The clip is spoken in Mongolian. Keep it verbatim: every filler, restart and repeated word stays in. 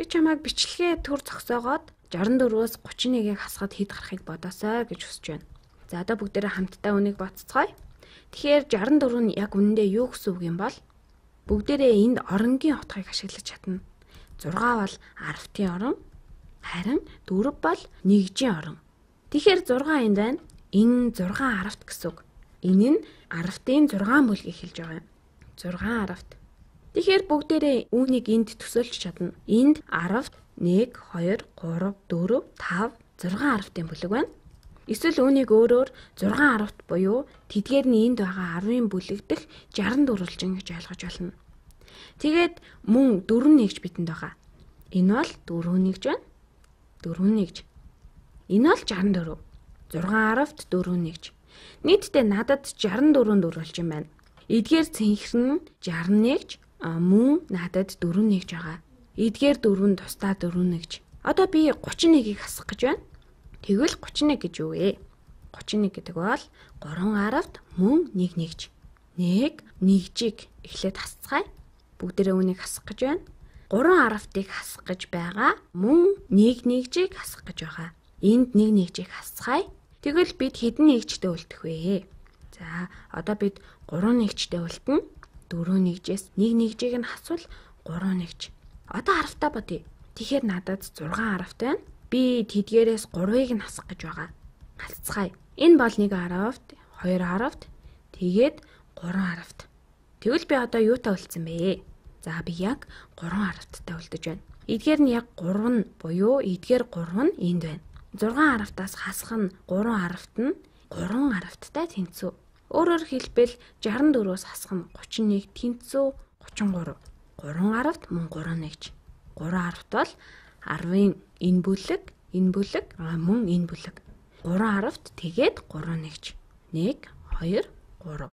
Би чамайг бичлэгээ төр зогсоогоод журам дөрвөөс гучин нэгийг хасахад хэд гарахыг бодосоо гэж хүсэж байна. За одоо бүгдээрээ хамтдаа үнийг батцгаая. Тэгэхээр журам дөрөв нь яг үнэндээ юу гэсэн үг юм бол бүгдээрээ энд оронгийн утгыг ашиглаж чадна. зургаа бол арвтын орон, харин дөрөв бол нэгжийн орон. Тэгэхээр зургаа энд байна. Энэ зургаан арвт гэсэн үг. Энэ нь арвтын зургаан бүлгийг хэлж байгаа юм. зургаан арвт. Тэгэхээр бүгдээрээ үүнийг энд төсөөлж чадна. Энд арвт нэг, хоёр, гурав, дөрөв, тав, зургаан арвтын бүлэг байна. Эсвэл үүнийг өөрөөр зургаан арвт буюу тэдгээр нь энд байгаа арвын бүлэг дэх журам дөрвөлжин гэж ойлгож болно. Тэгээд мөн дөрөв нэгж бидэнд байгаа. Энэ бол дөрөв нэгж байна. дөрөв нэгж. Энэ бол журам дөрөв. зургаан арвт дөрөв нэгж. Нийтдээ надад журам дөрөв дөрвөлжин байна. Эдгээр цэнхэр нь журам нэгж, мөн надад дөрөв нэгж байгаа. Эдгээр дөрөв нь тусдаа дөрөв нэгж. Одоо би гучин нэгийг хасах гэж байна. Тэгвэл гучин нэг гэж юу вэ? гучин нэг гэдэг бол гурван арвт мөн нэг нэгж. нэг нэгжийг эхлээд хасцгаая. Бүгдээрээ үнийг хасах гэж байна. гурван арвтыг хасах гэж байгаа. Мөн нэг нэгжийг хасах гэж байгаа. Энд нэг нэгжийг хасцгаая. Тэгвэл бид хэдэн нэгжтэй үлдэх вэ? За, одоо бид гурван нэгжтэй үлдэнэ. дөрөв нэгжээс нэг нэгжийг нь хасвал гурван нэгж. Одоо арвтаа бодъё. Тэгэхээр надад зургаан арвт байна. Би тэдгээрээс гурвыг нь хасах гэж байгаа. Хасцгаая. Энэ бол нэг арвт, хоёр арвт, тэгээд гурван арвт. Тэгвэл би одоо юутай үлдсэн бэ? За, би яг гурван арвттай үлдэж байна. Эдгээр нь яг гурав нь буюу эдгээр гурав нь энд байна. зургаан арвтаас хасах нь гурван арвт нь гурван арвттай тэнцүү. Өөрөөр хэлбэл журам дөрвөөс хасах нь гучин нэг тэнцүү гучин гурав. гурван арвт мөн гурван нэгж. гурван арвт бол арвын энэ бүлэг, энэ бүлэг, мөн энэ бүлэг. гурван арвт тэгээд гурван нэгж. нэг, хоёр, гурав.